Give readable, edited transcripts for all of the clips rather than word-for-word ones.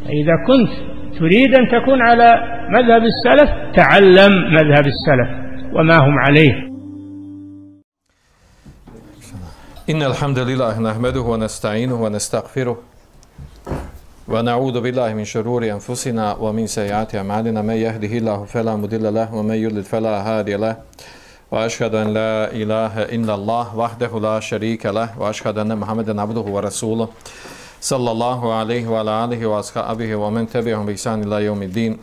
إذا كنت تريد أن تكون على مذهب السلف تعلم مذهب السلف وما هم عليه. إن الحمد لله نحمده ونستعينه ونستغفره ونعوذ بالله من شرور أنفسنا ومن سيئات أعمالنا من يهده الله فلا مضل له ومن يضلل فلا هادي له وأشهد أن لا إله إلا الله وحده لا شريك له وأشهد أن محمدا عبده ورسوله صلى الله عليه وعلى آله وأصحابه ومن تبعهم بإحسان إلى يوم الدين.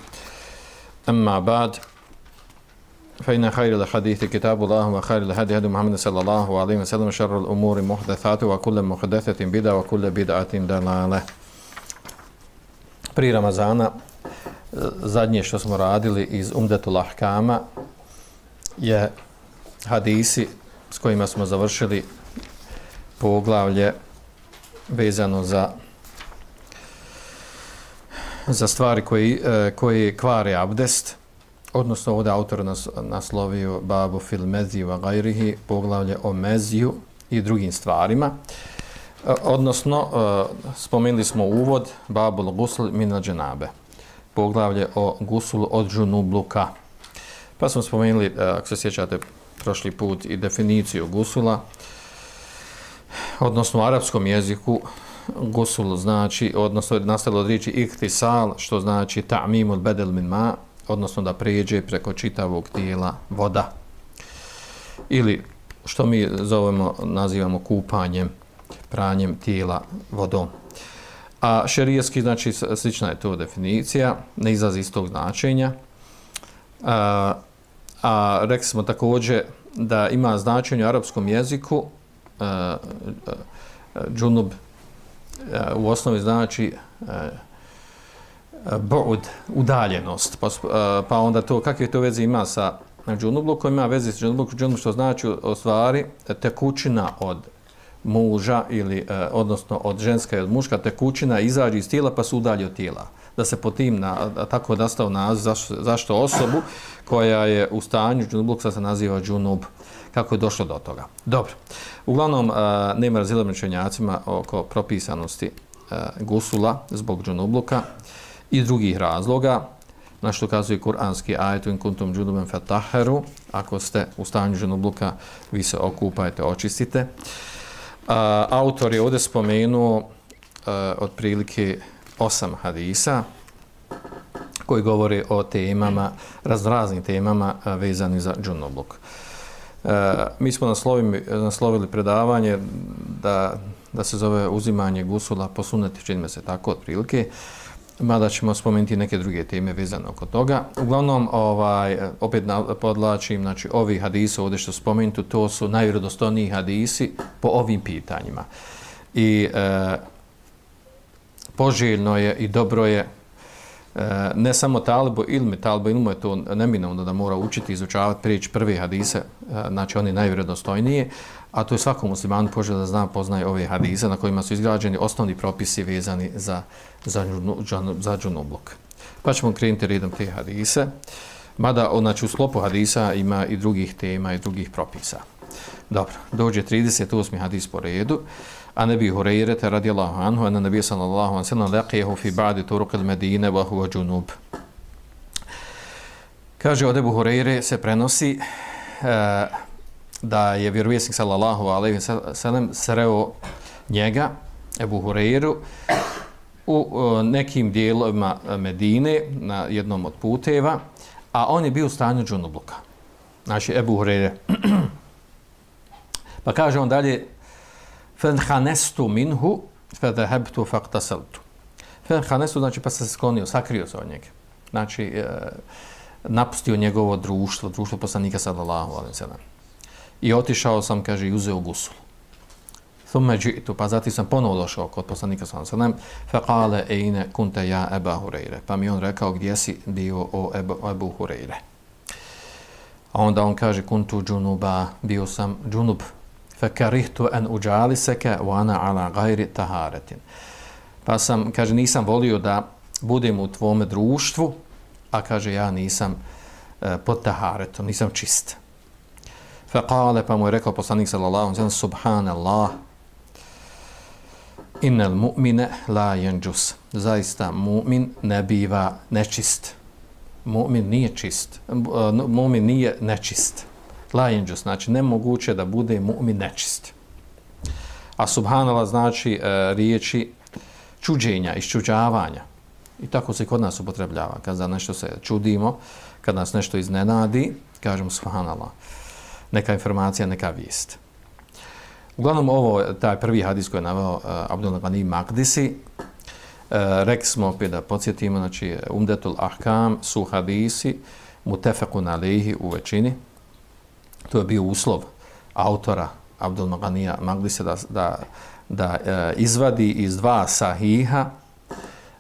أما بعد فإن خير الحديث كتاب الله وخير الهدي هدي محمد صلى الله عليه وسلم وشر الأمور محدثاتها وكل محدثة بدعة وكل بدعة ضلالة. Prije Ramazana zadnje što smo radili iz Umdatul Ahkama je hadisi s kojima smo završili poglavlje vezano za stvari koje kvare abdest, odnosno ovdje autor naslovio babu fil meziju wa gajrihi, poglavlje o meziju i drugim stvarima. Odnosno, spomenuli smo uvod babul gusl min dženabe, poglavlje o gusulu od džunubluka. Pa smo spomenuli, ako se sjećate, prošli put i definiciju gusula, odnosno u arapskom jeziku gusul znači, odnosno nastalo od riječi iktisal, što znači ta'mimul bedel min ma, odnosno da prijeđe preko čitavog tijela voda. Ili što mi nazivamo kupanjem, pranjem tijela vodom. A šerijski, znači, slična je to definicija, ne izlazi iz tog značenja. A rekli smo također da ima značenje u arapskom jeziku džunub u osnovi znači bu'ud, udaljenost. Pa onda to, kakve to veze ima sa džunublukom? Ima veze sa džunublukom, što znači u stvari tekućina od muža ili odnosno od ženska i od muška tekućina izađe iz tijela pa se udalje od tijela. Da se po tim tako nastao naziv zašto osobu koja je u stanju džunubluka se naziva džunub, kako je došlo do toga. Dobro. Uglavnom nema razilaženja među učenjacima oko propisanosti gusula zbog džunubluka i drugih razloga, na što kazuje kuranski ajet in kuntum džunuban fatahharu, ako ste u stanju džunubluka vi se okupajte, očistite. Autor je ovdje spomenuo otprilike 8 hadisa koji govore o temama, raznim temama vezani za džunubluk. Mi smo naslovili predavanje da se zove uzimanje gusula po sunneti, čini se tako otprilike, mada ćemo spomenuti neke druge teme vezane oko toga. Uglavnom, opet podlačim, znači ovi hadisi ovdje što spomenuti, to su najvjerodostojniji hadisi po ovim pitanjima. I poželjno je i dobro je ne samo talibu ilmu je to neminovno da mora učiti, izučavati, prijeći prve hadise, znači oni najvjerodostojnije, a to je svakom muslimanu poželjno da zna, poznaje ove hadise na kojima su izgrađeni osnovni propisi vezani za džunubluk. Pa ćemo krenuti redom te hadise, mada znači, u sklopu hadisa ima i drugih tema i drugih propisa. Dobro, dođe 38. hadis po redu. An Ebi Hurajrata radijallahu anhu anna nabiyya sallallahu alejhi ve sellem laqiyahu fi ba'di turuq al-Madine wa huwa junub. Kaže od Ebu Hurajre se prenosi da je vjerovjesnik sallallahu alejhi ve sellem sreo njega, Ebu Hurajru, u nekim dijelovima Medine na jednom od puteva, a on je bio u stanju džunubluka. Znači Ebu Hurajre. Pa kaže on dalje فَنْحَنَسْتُ مِنْهُ فَذَهَبْتُ فَقْتَسَلْتُ. فَنْحَنَسْتُ znači pa se sklonio, sakrio se od njega. Znači napustio njegovo društvo poslanika sallallahu alejhi ve sellem. I otišao sam, kaže, i uzeo gusul. ثُمَّ جِئْتُ, pa zatim sam ponovo došao kod poslanika sallallahu alejhi ve sellem. فَقَالَ أَيْنَ كُنْتَ يَا أَبَا هُرَيْرَ. Pa mi on rekao, gdje si bio o Ebu Hurajre? A onda on kaže, kuntu džunuba, bio sam džunub. فَكَرِهْتُ أَنْ أُجَالِسَكَ وَأَنَا عَلَى غَيْرِ طَهَارَةٍ. Pa sam, kaže, nisam volio da budem u tvome društvu, a kaže, ja nisam pod taharetom, nisam čist. فَقَالَ, pa mu je rekao poslanik sallallahu alejhi ve sellem, subhanallah, Innal mu'mine la yanjus. Zaista mu'min ne biva nečist. Mu'min nije čist. Mu'min nije nečist. La yanjus, znači nemoguće da bude mu'min nečist. A subhanallah znači riječi čuđenja, iščuđavanja. I tako se kod nas upotrebljava. Kad za nešto se čudimo, kad nas nešto iznenadi, kažemo subhanallah. Neka informacija, neka vijest. Uglavnom ovo, taj prvi hadis koji je naveo Abdul Ghani Maqdisi, rekli smo opet da podsjetimo, znači Umdetul Ahkam su hadisi mutefekun alejhi u većini. To je bio uslov autora Abdul Ghanija Maqdisi da izvadi iz dva sahiha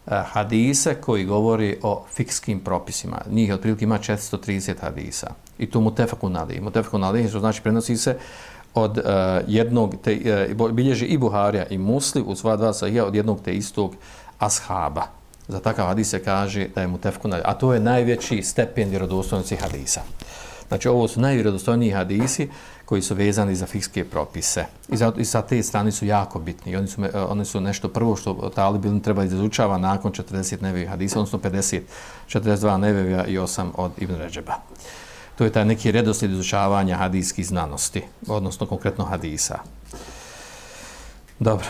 hadise koji govori o fikskim propisima. Njih otprilike ima 430 hadisa. I to mutefekun alejhi. Mutefekun alejhi što znači prenosi se od jednog, bilježi i Buharija i Muslim u sva dva sahija od jednog te istog ashaba. Za takav hadis se kaže da je mutefekun alejhi, a to je najveći stepen vjerodostojnosti hadisa. Znači ovo su najvjerodostojniji hadisi koji su vezani za fikske propise. I sa te strane su jako bitni. Oni su nešto prvo što talib treba izučava nakon 40 nevevih hadisa, odnosno 50, 42 nevevija i 8 od Ibn Redžeba. To je taj neki redoslijed izučavanja hadijskih znanosti, odnosno konkretno hadisa. Dobro.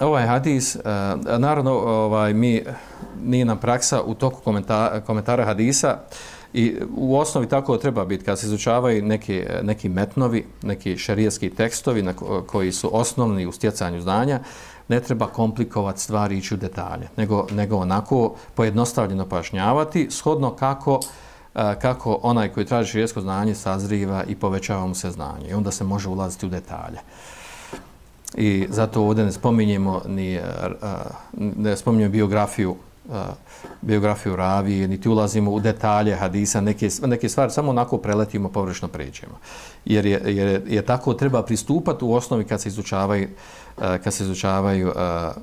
Ovaj hadis, naravno, nije nam praksa u toku komentara hadisa i u osnovi tako treba biti kad se izučavaju neki metnovi, neki šerijski tekstovi koji su osnovni u stjecanju znanja, ne treba komplikovati stvari i ići u detalje, nego onako pojednostavljeno pojašnjavati, shodno kako onaj koji traži šerijsko znanje sazriva i povećava mu se znanje. I onda se može ulaziti u detalje. I zato ovdje ne spominjemo biografiju ravije, niti ulazimo u detalje hadisa, neke stvari samo onako preletimo, površno pređemo. Jer je tako treba pristupati u osnovi kad se izučavaju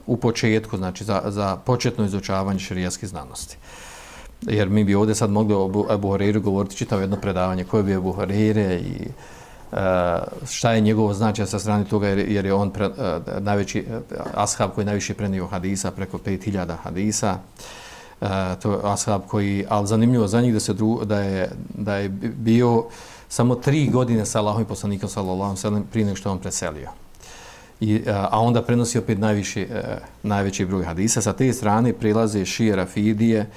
u početku, znači za početno izučavanje šerijskih znanosti. Jer mi bi ovdje sad mogli o Ebu Hureyru govoriti čitavo jedno predavanje koje bi Ebu Hureyre i šta je njegovo značaj sa strane toga jer je on najveći ashab koji najviše prenio hadisa, preko 5000 hadisa. To je ashab koji, ali zanimljivo za njih da je bio samo 3 godine sa Allahom i poslanikom sallallahu alejhi ve sellem prije nego što on preselio. A onda prenosi opet najveći broj hadisa. Sa te strane prilaze šije Rafidije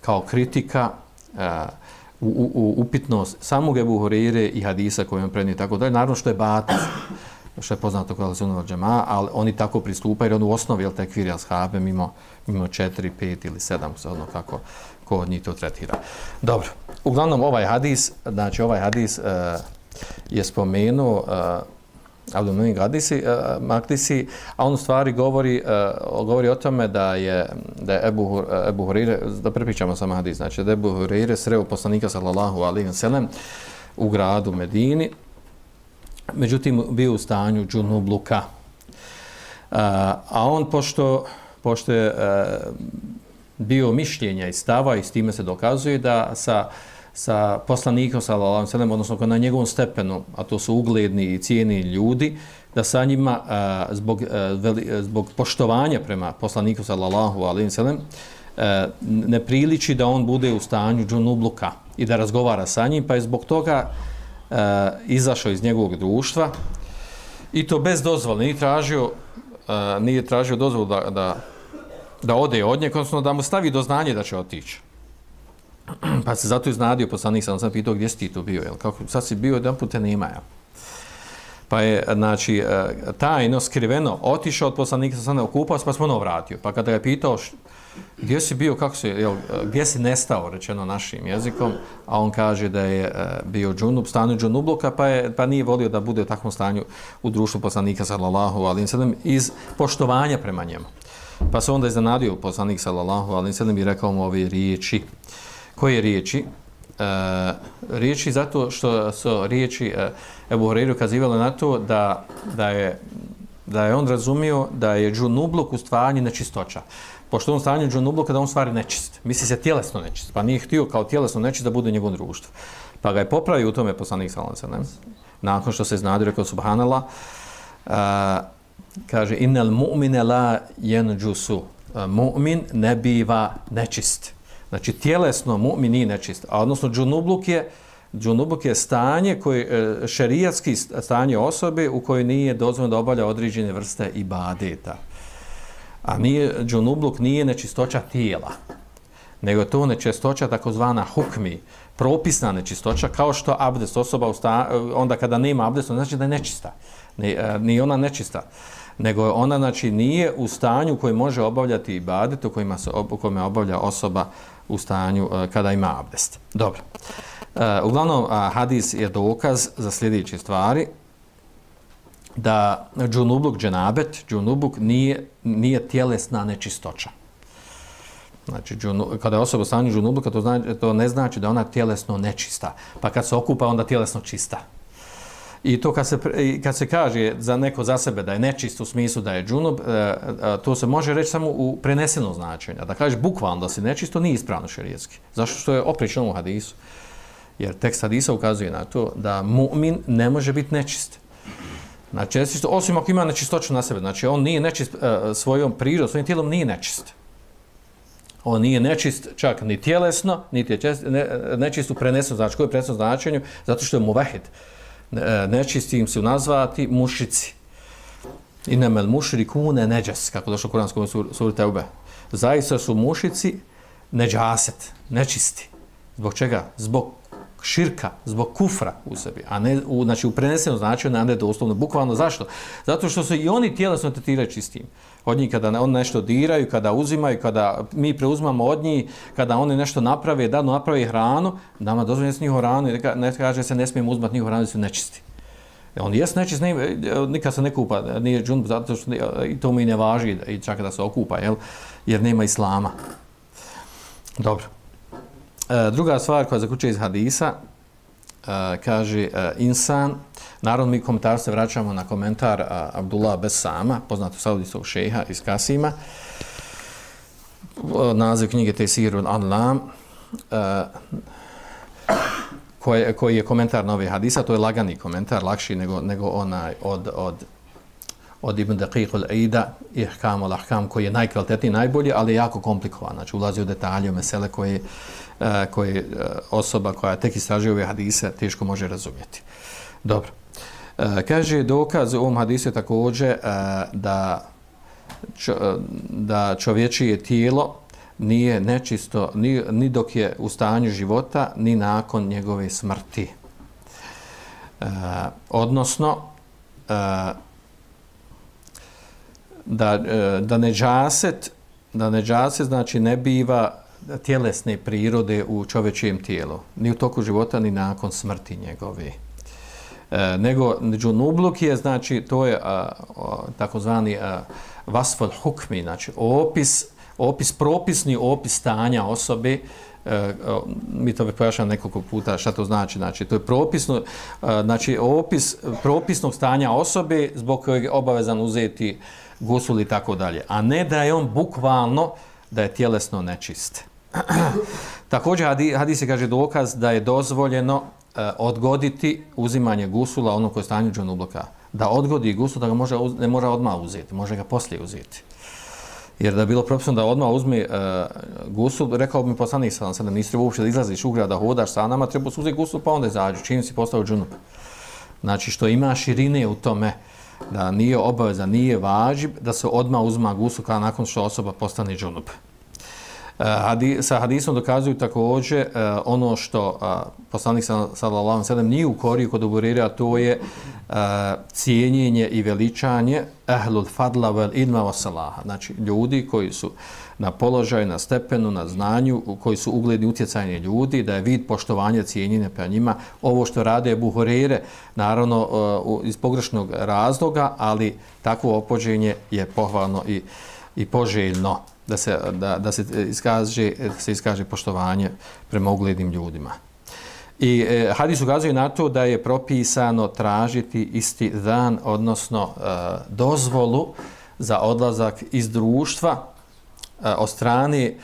kao kritika u upitnost samog Ebu Hureyre i hadisa koje on prenio tako dalje. Naravno što je batil, što je poznato kao Sunnah wal Džemaa, ali oni tako pristupaju jer on u osnovi je tekfir ashabe mimo 4, 5 ili 7, odnosno kako ko od njih to tretira. Dobro, uglavnom ovaj hadis je spomenuo Abdul Ghani Maqdisi, a on u stvari govori o tome da je Ebu Hureyre, da prepričamo samo hadis, znači da je Ebu Hureyre sreo poslanika sallallahu alejhi ve sellem u gradu Medini, međutim bio u stanju džunubluka. A on pošto je bio mišljenja i stava i s time se dokazuje da sa poslanikom sallallahu alejhi ve sellem, odnosno na njegovom stepenu, a to su ugledni i cijeni ljudi, da sa njima zbog poštovanja prema poslaniku sallallahu alejhi ve sellem ne priliči da on bude u stanju džunubluka i da razgovara sa njim, pa je zbog toga izašao iz njegovog društva i to bez dozvole, nije tražio dozvolu da ode od njega, odnosno da mu stavi do znanja da će otići. Pa se zato iznadio poslanik, sam pitao gdje si ti to bio, jel? Kako, sad si bio, jedan put te nema, jel? Pa je, znači, tajno, skriveno, otišao od poslanika, sam okupao se, pa smo ono vratio. Pa kada ga je pitao gdje si bio, kako si, jel, gdje si nestao, rečeno našim jezikom, a on kaže da je bio džunub, stanju džunubluka, pa nije volio da bude u takvom stanju u društvu poslanika, sallallahu alejhi ve sellem, iz poštovanja prema njemu. Pa se onda iznenadio poslanik, sallallahu alejhi ve sellem, i rekao mu ove riječi. Koje riječi? Riječi zato što su riječi Ebu Hureyre kazivale na to da je on razumio da je džunubluk u stvari nečistoća. Pošto on stanju džunubluka da on stvari nečist. Misli se tjelesno nečist. Pa nije htio kao tjelesno nečist da bude u njegovom društvu. Pa ga je popravio u tome poslanik sallallahu alejhi ve sellem. Nakon što se iznadio, rekao subhanallah, kaže innal mu'mine la yanjusu, mu'min ne biva nečist. Znači tjelesno mu'min nije nečist, a odnosno džunubluk je stanje koje šerijatski stanje osobe u kojoj nije dozvoljeno da obavlja određene vrste ibadeta. A džunubluk nije nečistoća tijela, nego je to nečistoća takozvana hukmi, propisna nečistoća, kao što abdest osoba onda kada nema abdesta, znači da je nečista. Nije ona nečista, nego ona znači nije u stanju u kojem može obavljati ibadet, u kojima obavlja osoba u stanju kada ima abdest. Dobro. Uglavnom, hadis je dokaz za sljedeće stvari, da džunubluk, džunubuk nije tjelesna nečistoća. Znači, kada je osoba u stanju džunubluka, to ne znači da ona tjelesno nečista. Pa kad se okupa, onda tjelesno čista. I to kad se kaže za neko za sebe da je nečist u smislu da je džunub, to se može reći samo u prenesenom značenju. Da kažeš bukvalno da si nečist, to nije ispravno šerijatski. Zašto? Što je oprično u hadisu. Jer tekst hadisa ukazuje na to da mu'min ne može biti nečist. Znači, osim ako ima nečistoću na sebe. Znači, on nije nečist svojom prirodom, svojim tijelom nije nečist. On nije nečist čak ni tjelesno, niti je nečist u prenesenom značenju. Koji je prenesenom značenju? Zato što je muvahid. Nečisti im se nazvati mušici. Inemel mušrikune neđas, kako došlo u Kuranskom suri Teube. Zaista su mušici neđaset, nečisti. Zbog čega? Zbog širka, zbog kufra u sebi, a ne znači u prenesenom značenju, a ne doslovno. Bukvalno zašto? Zato što se i oni tjelesno tretiraju čistim. Od njih kada oni nešto diraju, kada uzimaju, kada mi preuzmamo od njih, kada oni nešto naprave, da naprave hranu, nama dozvoljeno jesti njihovu hranu, ne kaže se ne smijemo uzmati njihovu hranu, da su nečisti. On jest nečist, nikad se ne kupa, nije džunub, zato što i to mi ne važi i čak da se okupa, jer nema islama. Dobro. Druga stvar koja zaključuje iz hadisa, kaže insan, naravno mi komentar se vraćamo na komentar Abdullah Besama, poznatog saudijskog šeha iz Kasima, naziv knjige Tesirul Anlam, koji je komentar na ove hadisa, to je lagani komentar, lakši nego onaj od Ibn Daqiq al-Aida, Ihkam al-Ahkam, koji je najkvalitetniji, najbolji, ali je jako komplikovan. Znači, ulazi u detalje, u mesele koje osoba koja tek istražuje ove hadise teško može razumjeti. Dobro. Kaže dokaz u ovom hadisu također da čovječije tijelo nije nečisto ni dok je u stanju života, ni nakon njegove smrti. Odnosno, da neđaset znači ne biva tjelesne prirode u čovječijem tijelu, ni u toku života, ni nakon smrti njegove. Nego džunubluk je, znači, to je takozvani vasful hukmi, znači propisni opis stanja osobe, mi to pojašnjamo nekoliko puta šta to znači, znači to je propisno, znači opis propisnog stanja osobe zbog kojeg je obavezan uzeti gusul i tako dalje, a ne da je on bukvalno da je tjelesno nečist. Također hadis se kaže dokaz da je dozvoljeno odgoditi uzimanje gusula onog koji je stanju džunubluka. Da odgodi gusul, da ga ne može odmah uzeti, može ga poslije uzeti. Jer da je bilo propisano da odmah uzme gusul, rekao bi mi poslanik sallallahu alejhi ve sellem, nisi treba uopšte da izlaziš u grad, da hodaš sa nama, treba uzeti gusul pa onda izađu, čim si postao džunup. Znači što ima širine u tome, da nije obaveza, nije važib da se odmah uzma gusul kada nakon što osoba postane džunup. Sa hadisom dokazuju također ono što poslanik sallallahu alejhi ve sellem nije ukorio kod Buhurira, to je cijenjenje i veličanje ahlul fadla wal ilma was salaha, znači ljudi koji su na položaju, na stepenu, na znanju, koji su ugledni utjecajni ljudi, da je vid poštovanja, cijenjenja prema njima. Ovo što rade Buhurire, naravno iz pogrešnog razloga, ali takvo opođenje je pohvalno i poželjno da se iskaže poštovanje prema uglednim ljudima. I hadis ukazuje na to da je propisano tražiti istizan, odnosno dozvolu za odlazak iz društva od strane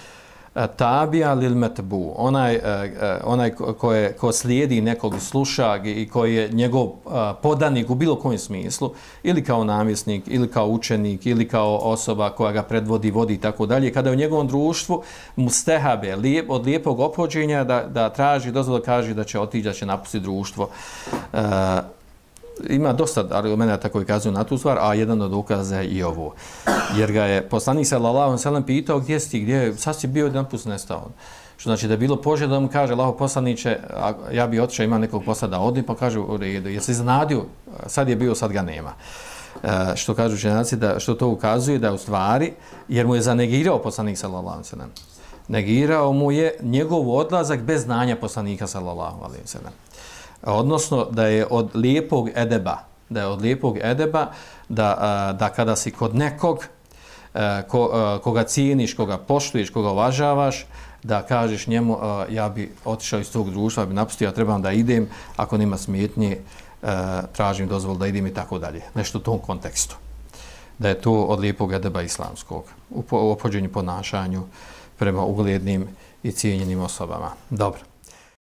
tabija lil metbu, onaj ko slijedi nekog, sluša i koji je njegov podanik u bilo kojem smislu, ili kao namjesnik, ili kao učenik, ili kao osoba koja ga predvodi, vodi i tako dalje, kada je u njegovom društvu mustehabe, od lijepog ophođenja da traži dozvolu, kaže da će otići, da će napustiti društvo. Ima dosta argumenata koji kazuju na tu stvar, a jedan od dokaza je i ovo. Jer ga je poslanik sallallahu alejhi ve sellem pitao gdje si ti, sad si bio jedan put nestao. Što znači da je bilo poželjno da mu kaže Allahov poslanice, ja bi otišao, ima nekog posla da odi, pa kaže u redu, jesi iznenadio, sad je bio, sad ga nema. Što kažu učenjaci, što to ukazuje da je u stvari, jer mu je zanegirao poslanik sallallahu alejhi ve sellem. Negirao mu je njegov odlazak bez znanja poslanika sallallahu alejhi ve sellem. Odnosno da je od lijepog edeba, da kada si kod nekog koga cijeniš, koga poštuješ, koga uvažavaš, da kažeš njemu ja bi otišao iz tog društva, bi napustio, ja trebam da idem, ako nema smetnje, tražim dozvolu da idem i tako dalje. Nešto u tom kontekstu. Da je to od lijepog edeba islamskog u ophođenju, ponašanju prema uglednim i cijenjenim osobama. Dobro.